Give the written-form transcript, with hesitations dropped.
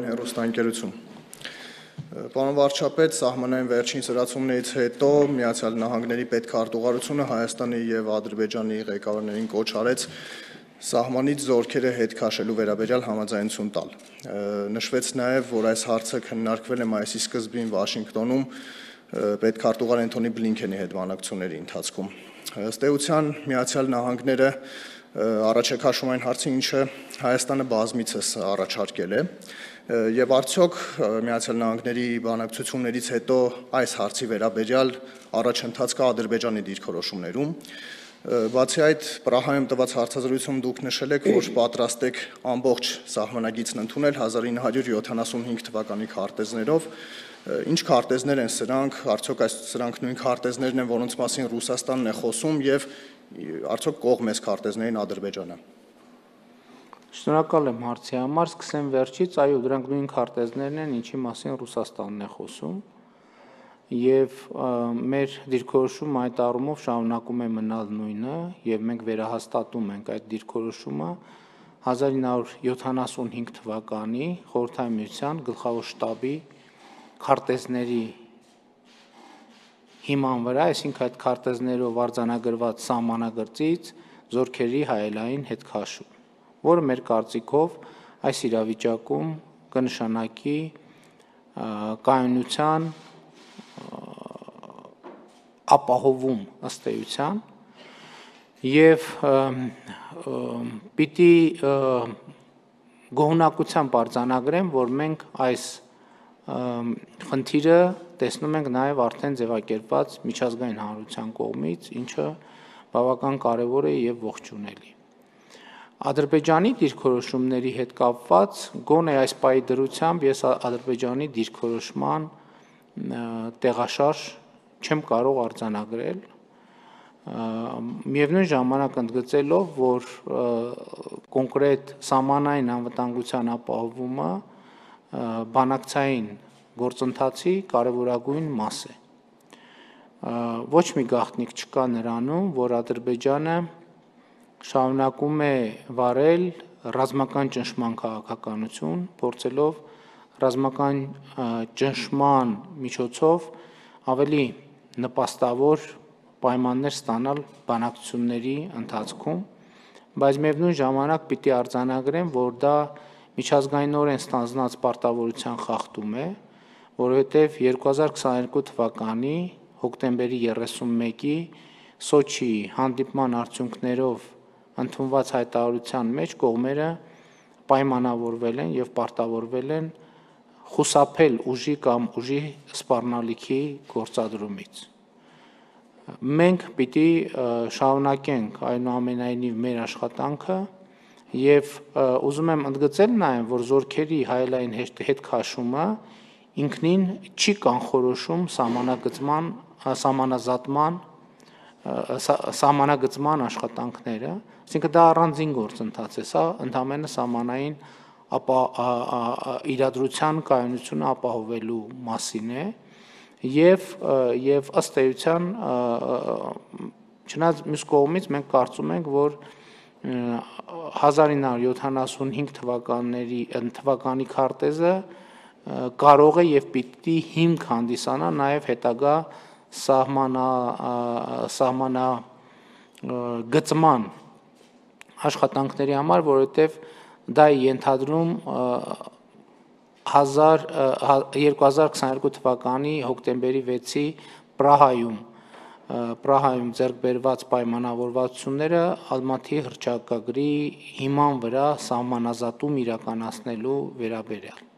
Հեռուստաընկերություն։ Պարոն վարչապետ, սահմանային վերջին սրացումներից հետո Միացյալ Նահանգների պետքարտուղարությունը Հայաստանի եւ Ադրբեջանի ղեկավարներին կոչ արեց սահմանից զորքերը հետ քաշելու վերաբերյալ համաձայնություն տալ։ Նշվեց նաեւ, որ այս հարցը քննարկվել է մայիսի սկզբին Վաշինգտոնում պետքարտուղար Անթոնի Բլինքենի հետ բանակցությունների ընթացքում։ Ըստ էության Միացյալ Նահանգները առաջեքաշում այն հարցը, ինչը Հայաստանը բազմիցս առաջարկել է, եւ արդյոք Միացյալ Նահանգների բանակցություններից հետո այս հարցի վերաբերյալ առաջընթաց կա Ադրբեջանի դիրքորոշումներում։ Բացի այդ, Պրահայում տված հարցազրույցում դուք նշել եք, որ պատրաստ եք ամբողջ սահմանագիծն ընդունել 1975 թվականի քարտեզներով։ Ինչ քարտեզներ են սրանք, արդյոք սրանք նույն քարտեզներն են, որոնց մասին Ռուսաստանն է խոսում, եւ արդյոք կողմ է քարտեզներին Ադրբեջանը։ Շնորհակալ եմ հարցի համար, սկսեմ վերջից, այո, դրանք նույն քարտեզներն են, ինչի մասին Ռուսաստանն է խոսում, եւ մեր դիրքորոշումը այդ առումով շարունակում է մնալ նույնը, եւ մենք վերահաստատում ենք այդ դիրքորոշումը 1975 թվականի Խորհրդային Միության գլխավոր շտաբի քարտեզների հիման վրա, այսինքն այդ քարտեզներով արձանագրված սահմանագծից զորքերի հայելային հետքաշում, որը մեր կարծիքով այս իրավիճակում կնշանակի կայունության ապահովում ըստ էության եւ պիտի գոհունակությամբ արձանագրեմ, որ մենք այս խնդիրը տեսնում ենք նաեւ արդեն ձևակերպված միջազգային հանրության կողմից, ինչը բավական կարեւոր է եւ ողջունելի։ Ադրբեջանի դիրքորոշումների հետ կապված գոնե այս պահի դրությամբ ես Ադրբեջանի դիրքորոշման տեղաշարժ չեմ կարող արձանագրել, միևնույն ժամանակ ընդգծելով, որ կոնկրետ սահմանային անվտանգության ապահովումը բանակցային գործընթացի կարևորագույն մաս է։ Ոչ մի գաղտնիք չկա նրանում, որ Ադրբեջանը շարունակում է վարել ռազմական ճնշման քաղաքականություն, փորձելով ռազմական ճնշման միջոցով ավելի նպաստավոր պայմաններ ստանալ բանակցությունների ընթացքում, բայց միևնույն ժամանակ պիտի արձանագրեմ, որ դա միջազգայինորեն ստանձնած պարտավորության խախտում է, որովհետև 2022 թվականի հոկտեմբերի 31-ի Սոչիի հանդիպման արդյունքներով ընդունված հայտարարության մեջ կողմերը պայմանավորվել են եւ պարտավորվել են խուսափել ուժի կամ ուժի սպառնալիքի գործադրումից։ Մենք պիտի շարունակենք այնուամենայնիվ մեր աշխատանքը եւ ուզում եմ ընդգծել նաեւ, որ զորքերի հայելային հետքաշումը ինքնին չի կանխորոշում սահմանագծման աշխատանքները, այսինքն դա առանձին գործընթաց է, սա ընդհանրապես սահմանային իրադրության կայունությունը ապահովելու մասին է եւ ըստ էության չնայած մյուս կողմից մենք կարծում ենք, որ 1975 թվականի քարտեզը կարող է եւ պիտի հիմք հանդիսանա նաեւ հետագա սահմանագծման աշխատանքների համար, որովհետեւ դա է ենթադրում 2022 թվականի հոկտեմբերի 6-ի Պրահայում ձեռք բերված պայմանավորվածությունները Ալմատի հռչակագրի հիման վրա սահմանազատում իրականացնելու վերաբերյալ։